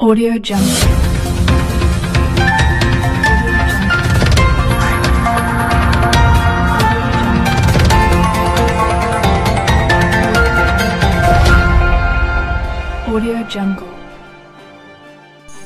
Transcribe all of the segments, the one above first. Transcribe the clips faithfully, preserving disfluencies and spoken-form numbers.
Audio Jungle. Audio Jungle.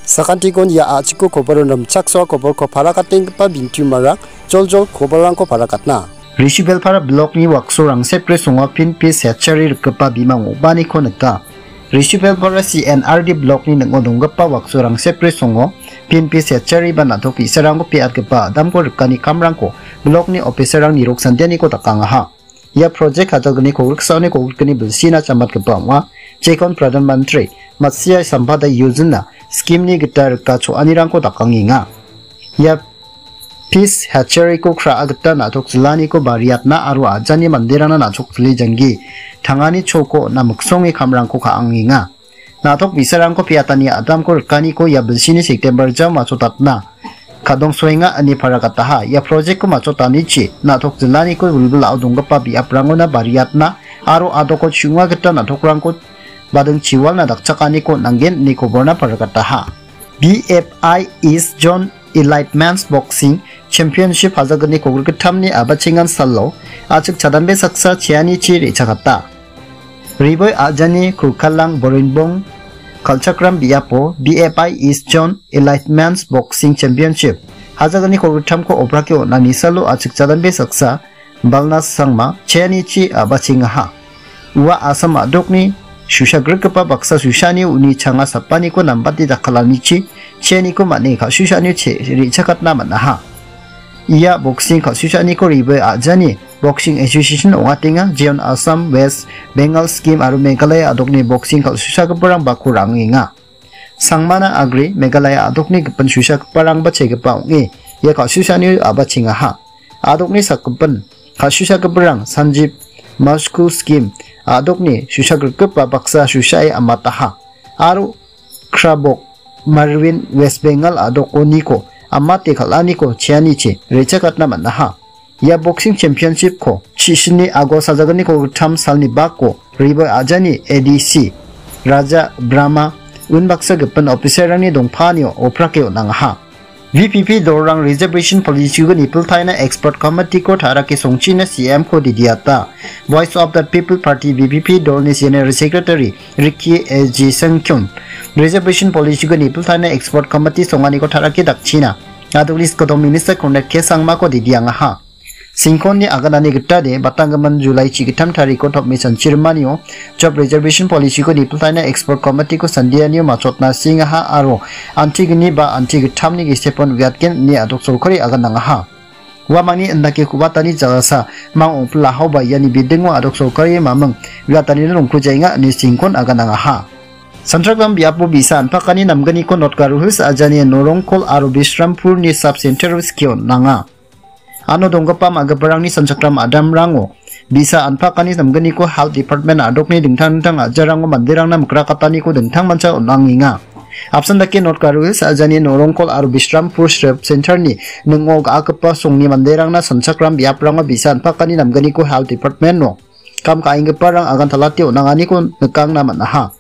Sakantikon ia a·chiko koboron rimchaksoa koborko parakatenggipa bintiumarang joljol koborrangko parakatna. Risubelpara blokni wakso Rangsepre songo pinpis hechari rikgipa bimang ong·baaniko nika. Risubelpara C N R D blokni ning·o donggipa wakso Rangsepre songo pinpis hechari ba na·tok bi·sarangko pe·atgipa adamko rikani kamrangko blokni opiserrang nirok santianiko dakangaha. Ia projek kajalgni kogriksaoni kogrikni bilsina chambatgipa ong·a. Jekon Pradhan Mantri Matsya Sampada Yojana scheme-ni gita rika cho·anirangko dakangenga. Ia pis hechariko kra·a gita na·tok jilaniko bariatna aro ajani manderangna na·tok jili janggi tangani choko on·a miksonge kamrangko ka·angenga. Na·tok bi·sarangko pe·atani adamko rikaniko ia bilsini September jao machotatna kadongsoenga ine paragataha. Ia project-ko machotanichi na·tok jilaniko wilwilao donggipa biaprangona bariatna aro adoko chu·onga gita na·tokrangko bading chiwalna dakchakaniko on·angen ine koborna paragataha. B F I East Zone Elite Men's Boxing Championship hajalgni kogrikgittamni a·bachengan salo a·chik chadambe saksa cheanichi re·chakata. Riboi a·jani Kurkalang Borinbong kal·chakram biapo B F I East Zone Elite Men's Boxing Championship hajalgni kogrikgittamko obrake on·ani salo a·chik chadambe saksa Balnas Sangma cheanichi a·bachengaha. Ua Assam a·dokni susa grikgipa baksa susani uni changa sapaniko nambate dakkalanichi cheaniko man·e ka·susanio che-, re·chakatna man·aha. Ia boxing kal·susaniko ribe a·jani Boxing Association ong·atenga, jeon Assam, West Bengal scheme aro Meghalaya a·dokni boxing kal·susagiparang bako ra·angenga. Sangmana agre Meghalaya a·dokni gipin susagiparangba chegipa ong·e ia kal·susanio a·bachengaha. A·dokni sakgipin kal·susagiparang Sanjib Maskul scheme a·dokni susagrikgipa baksa susae amataha. Aro Krabok Marwin West Bengal a·dokoniko amate kal·aniko cheanichi re·chakatna man·aha. Ia boxing championship-ko chisini August hajalgniko gittam salni bako Riboi a·jani A D C Raja Brahma unbaksa gipin officer-rangni dongpanio oprake on·angaha. V P P dolrang reservation policy-ko nipiltaina expert committee-ko tarake songchina C M-ko didiata. Voice of the People Party V P P dolni general secretary Ricky A J Sengkyun reservation policy-ko nipiltaina expert committee songaniko tarake dakchina. Adogni skoto minister Conrad K Sangmako didiangaha. Singkonni aganani gitade, batanggimin July chigittam tariko topme sanchirimanio, job reservation policy-ko nipiltaina expert committee-ko sandianio machotna singaha aro antigni ba antigittamni gisepon uiatgen ine adok sorkari aganangaha. Uamangni indake ku·batani jalasa mang ongpilahaoba iani bidingo adok sorkari maming uiatanina rongkujaenga ine singkon aganangaha. Sanchakram biapo bi·sa anpakani namgniko North Garo Hills ajani Norongkol aro Bishrampurni sub center-o skie on·anga. Ano donggipa ma·giparangni sanchakram adamrango bi·sa anpakani namgniko Health Department a·dokni dingtang dingtang a·jarango manderangna mikrakataniko dingtangmancha on·angenga. Apsan dake North Garo Hills ajani Norongkol aro Bishrampur Sub Center-ni ning·o ga·akgipa songni manderangna sanchakram biaprango bi·sa anpakani namgniko Health Department-o kam ka·enggiparang agantalate on·anganiko nikangna man·aha.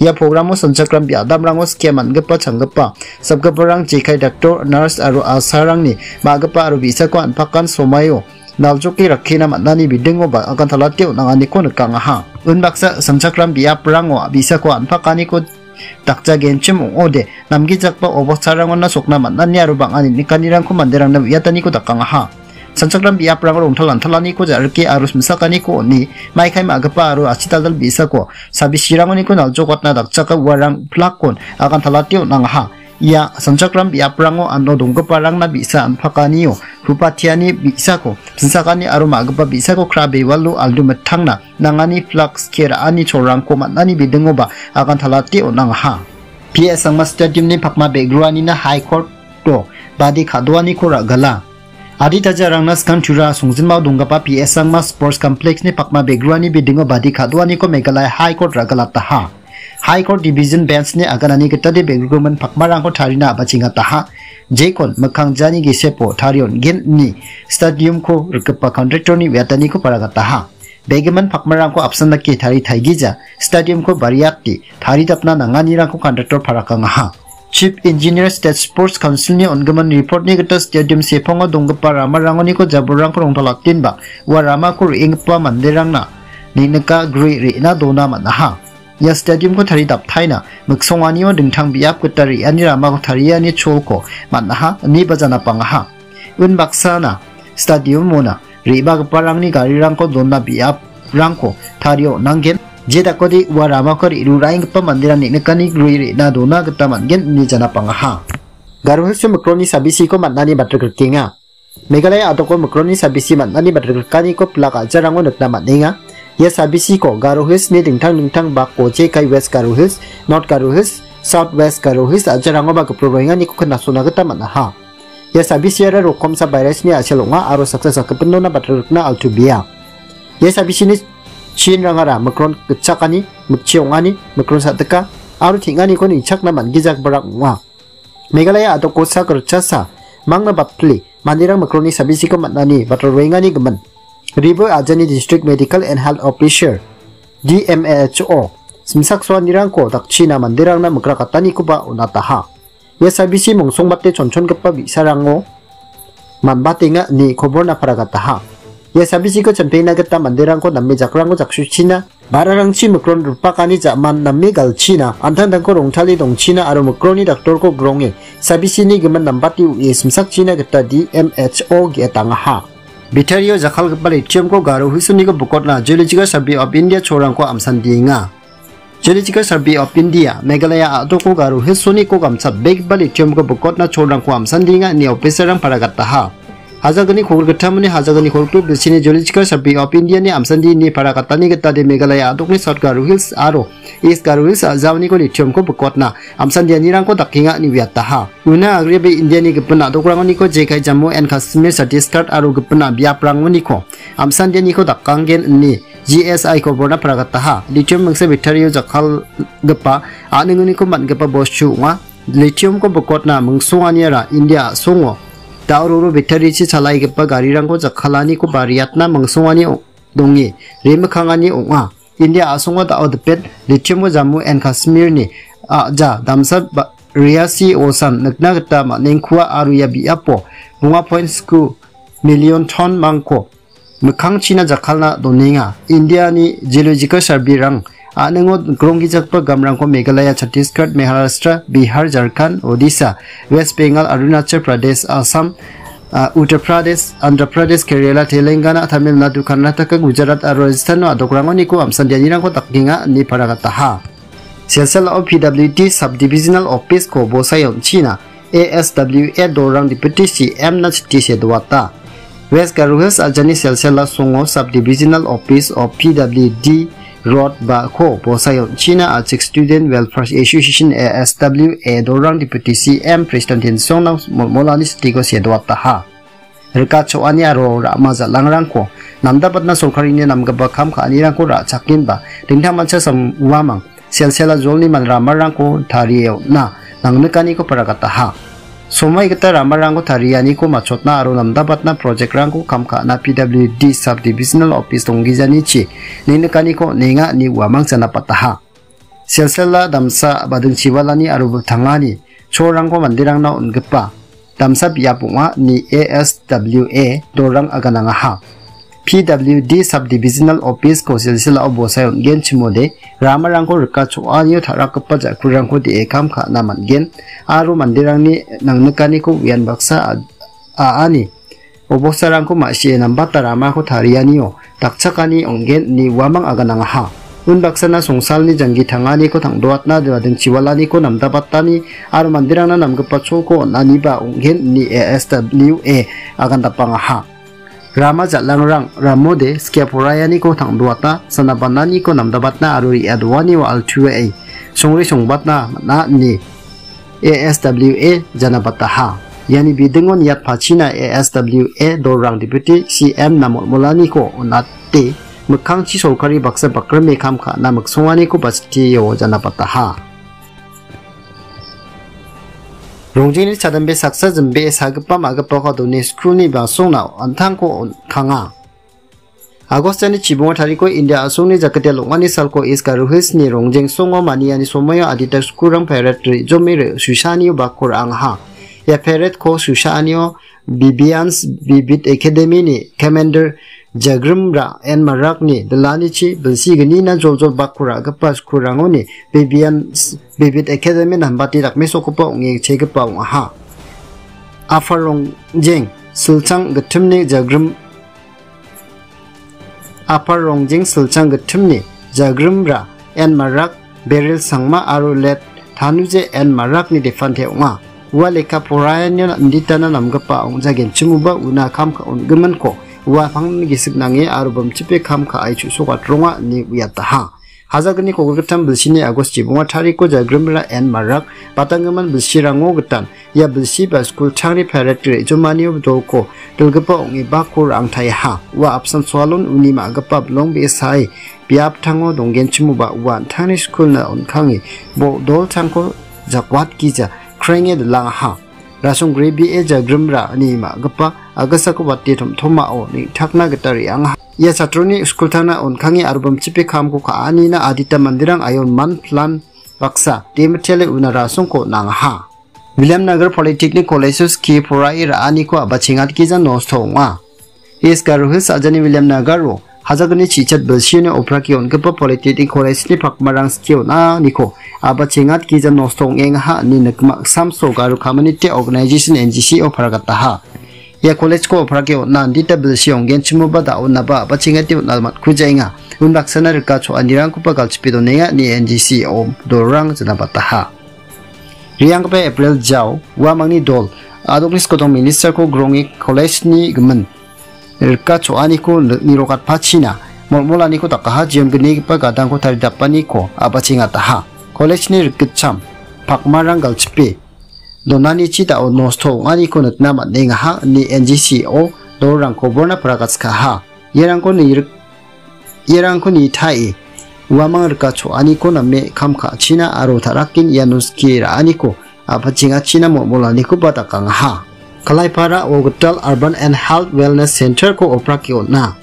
Ia programo sanchakram bi-, adamrango skie man·gipa changgipa, sapgiparang jekai daktor, nars aro asarangni ma·gipa aro bi·sako anpakan somaio naljoke rakkina man·ani bidingoba agantalate on·anganiko nikangaha. Unbaksa sanchakram biaprango bi·sako anpakaniko dakjagenchim ong·ode, namgijakba obostarangona sokna man·ani aro bang·a ninikanirangko manderangna uiataniko dakangaha. Sanchakram biaprango rongtal antalaniko ja·rike aro simsakaniko on·e, maikai ma·gipa aro achitaldal bi·sako sabisirangoniko naljokatna dakchaka uarang plak-kon agantalate on·angaha. Ia sanchakram biaprango ano donggiparangna bi·sa anpakanio hupatiani bi·sako, simsakani aro ma·gipa bi·sako kra bewalo aldu mittangna nangani plak skie ra·ani cholrangko man·ani bidingoba agantalate on·angaha. P S Sangma Stadium-ni pakma begruanina High Court-o badi ka·doaniko ra·gala. Adita jarangna skang Tura songjinmao donggipa P S Sangma Sports Complex-ni pakma begruani bidingo badi ka·doaniko Meghalaya High Court ra·galataha. High Court Division Bench-ni aganani gitade begrigimin pakmarangko tarina a·bachengataha. Jekon mikkang jani gisepo tarion gen·ni stadium-ko rikgipa contractor-ni uiataniko paragataha. Begimin pakmarangko apsan dake tari taigija, stadium-ko bariate taridapna nanganirangko contractor parakangaha. Chief Engineer State Sports Council-ni on·gimin report-ni gita stadium sepango donggipa ramarangoniko jabolrangko rongtalatenba ua ramako re·enggipa manderangna neng·nika gri re·na dona man·aha. Ia stadium-ko taridaptaina miksonganio dingtang biap gita re·ani ramako tariani cholko man·aha, ineba janapangaha. Unbaksana stadium-ona re·bagiparangni garirangko donna biaprangko tario on·angen. Je dakode ua ramako re·ruraenggipa manderang neng·nikani gri re·na dona gita man·gen ine janapangaha. Garo Hills-o mikroni sabisiko man·ani batrikrikenga. Meghalaya a·doko mikroni sabisi man·ani batrikrikaniko pilak a·jarango nikna man·enga. Ia sabisiko Garo Hills-ni dingtang dingtang bako jekai West Garo Hills, North Garo Hills, South West Garo Hills a·jarangoba gipin roenganiko knasona gita man·aha. Ia sabisiara rokomsa virus-ni a·sel ong·a aro saksa sakgipinona batrikna altu bia. Ia sabisini chinrangara mikron gitchakani, mikchi ong·ani, mikron sa·dika aro teng·aniko nichakna man·gijagiparang ong·a. Meghalaya a·doko sak ritchasa mangna batpile manderang mikroni sabisiko man·ani batrikroengani gimin. Ribo ajani District Medical and Health Officer, D M H O, simsaksoanirangko dakchina manderangna mikrakatanikoba on·ataha. Ia sabisi mongsongbate chonchongipa bi·sarango manbatenga ine koborna paragataha. Ia sabisiko chempengna gita manderangko name jakrangko jaksuchina, ba·rarangchi mikron ripakani ja·man name galchina, an·tangtangko rongtale dongchina aro mikroni daktorko gronge sabisini gimin nambate u·e simsakchina gita D M H O ge·etangaha. Betario jakkalgipa lithium-ko Garo Hills-oniko bokotna Geological Survey of India cholrangko amsandienga. Geological Survey of India, Meghalaya a·doko Garo Hills-oniko gamchatbegipa lithium-ko bokotna cholrangko amsandienga ine officer-rang paragataha. Hajagni kolgittamoni hajagni kolgrik bilsini Geological Survey of India-ni amsandi ine paragatani gitade Meghalaya a·dokni South Garo Hills aro East Garo Hills a·jaoniko lithium-ko bokotna amsandianirangko dakenga ine uiataha. Una agreba India-ni gipin a·dokrangoniko jekai Jammu and Kashmir, Chhattisgarh aro gipin a-, biaprangoniko amsandianiko dakanggen ine G S I koborna paragataha. Lithium mingsa betario jakkalgipa a·ningoniko man·gipa bostu ong·a. Lithium-ko bokotna mingsonganiara India a·songo da·o roro betarichi chalaigipa garirangko jakkalaniko bariatna mingsongani ong-, donge remikkangani ong·a. India a·songo da·o dipet lithium-ko Jammu and Kashmir-ni a·ja damsa ba-, riasi osan nikna gita man·engkua aro ia biapo bonga point sku million ton-mangko mikkangchina jakkalna donenga. India-ni Geological Survey-rang a·ningo gronggijagipa gamrangko Meghalaya, Chhattisgarh, Maharashtra, Bihar, Jharkhand, Odisha, West Bengal, Arunachal Pradesh, Assam, ah, Uttar Pradesh, Andhra Pradesh, Kerala, Telangana, Tamil Nadu, Karnataka, Gujarat aro Rajasthan-o a·dokrangoniko amsandianirangko dakenga ine paragataha. Silsila-o P W D Subdivisional Office-ko bosae on·china A S W A dolrang Deputy C M-na chiti sedoata. West Garo Hills ajani Silsila songo Subdivisional Office of P W D Road ba ko bosae on·china achik Student Welfare Association, A S W A, dolrang Deputy C M President Tensongna molmolani chitiko sedoataha. Rikachoani aro rama jalangrangko namdabatna sorkarini namgipa kam ka·anirangko ra·chakenba dingtangmancha sam-, uamang Silsila jolni man-, ramarangko tarie on·na nangnikaniko paragataha. Somoi gita ramarangko tarianiko machotna aro namdabatna project-rangko kam ka·na P W D Subdivisional Office donggijanichi nengnikaniko on·enga ine uamang janapataha. Silsila damsa bading chiwalani aro tangani cholrangko manderangna on·gipa damsa biap ong·a ine A S W A dolrang aganangaha. P W D Subdivisional Office-ko Silsila-o bosae on·genchimode ramarangko rika cho·anio ta·rakgipa ja·kurangko de·e kam ka·na man·gen aro manderangni nangnikaniko uian baksa a-, a·ani obostarangko ma·sie nambata ramako tarianio dakchakani ong·gen ine uamang aganangaha. Unbaksana songsalni janggi tanganiko tangdoatna bading chiwalaniko namdabatani aro manderangna namgipa cholko on·aniba ong·gen ine A S W A agandapangaha. Rama jal·angrang ramode skia poraianiko tangdoata, sana bananiko namdabatna aro re·a doanio altuae songre songbatna man·a ine A S W A janabataha. Iani bidingo niatpachina A S W A dolrang Deputy C M-na molmolaniko on·ate mikkangchi sorkari baksa bakrime kam ka·na miksonganiko bachitio janabataha. Rongjengni chadambe saksa jimbee sagipa ma·gipako adoni skulni basongna an·tangko on-, kanga. Agostani chibongo tariko India a·songni jakate long·ani salko East Garo Hillsni Rongjeng songo maniani somoio adita skulrang parade re·jome re-, susaanio bakko ra·angaha. Ia paradeko susaanio Bibians Bibit Academy-ni commander Jagrimra N Marakni dilanichi bilsi gnina joljol bakko ra·gipa skulrangoni Bibians Bibit Academy nambate dakmesokoba ong·e chegipa ong·aha. Apar Rongjeng silchang gittimni Jagrim Apar Rongjeng silchang gittimni Jagrimra N Marak, Beril Sangma aro Let Tanuje N Marakni depante ong·a. Ua lekka poraanio inditana namgipa ong·jagenchimoba una kam ka-, on·giminko ua pangni gisik nange aro bimchipe kam ka·ai chu·sokatronga ine uiataha. Hajakgni kogilgittam bilsini Agost chibonga tariko Jagrimra N Marak batanggimin bilsirango gitan ia bilsi ba skulchangni parade re·jomanio dolko dilgipa ong·e bakko ra·angtaiaha. Ua apsan soalon uni ma·gipa bilong be·sae biaptango donggenchimoba ua an·tangni skulna on·kange bo-, dolchangko jakwatgija krenge dilangaha. Rasong Grebie Jagrimra ine ma·gipa agisako bate tom·tomao neng·takna gita re·angaha. Ia chatroni skultangna on·kange aro bimchipe kamko ka·anina adita manderang aion man plan baksa demitele una rasongko nangaha. Williamnagar Polytechnic College-o skie poraie ra·aniko a·bachengatgija nosto ong·a. East Garo Hills ajani Williamnagaro hajakgni chichat bilsioni oprake on·gipa Polytechnic College-ni pakmarang skie on·aniko a·bachengatgija nosto ong·engaha ine nikma samso Garo Community Organization, N G C O, paragataha. Ia college-ko oprake on·na andita bilsi ong·genchimoba da·onaba a·bachengate on·na matkujaenga. Unbaksana rika cho·anirangkoba galchipe donenga ine N G C O dolrang jinabataha. Re·anggipa April Jao, uamangni dol, a·dokni skotong minister-ko gronge college-ni gimin rika cho·aniko ni-, nirokatpachina molmolaniko dakaha, jeon gnigipa gadangko taridapaniko a·bachengataha. College-ni rikgitcham pakmarang galchipe donanichi da·o nosto ong·aniko nikna man·engaha ine N G C O dolrang koborna paragatskaha. Iarangko nirik-, iarangko nitae uamang rika cho·aniko name kam ka·achina aro ta·rakin iano skie ra·aniko a·bachengachina molmolanikoba dakangaha. Kalaipara Ogital Urban and Health Wellness Center-ko oprake on·a.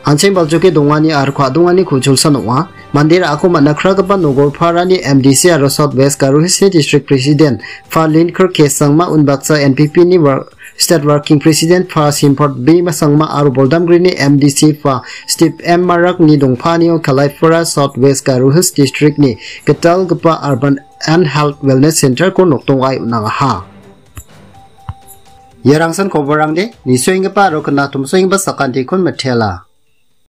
An·cheng baljoke dongani aro ka·dongani ku·chulsan ong·a. Mande ra·ako man·a kragipa Nogorparani M D C aro South West Garo Hills-ni District President Fa Linkir K Sangma, unbaksa N P P-ni wor-, State Working President Fa Simport B Sangma aro Boldamgrini M D C Fa Steve M Marakni dongpanio Kalaipara South West Garo Hills District-ni gitalgipa Urban and Health Wellness Center-ko nokdongai on·angaha. Iarangsan koborrangde nisoenggipa aro knatomsoenggipa sakantikon mitela.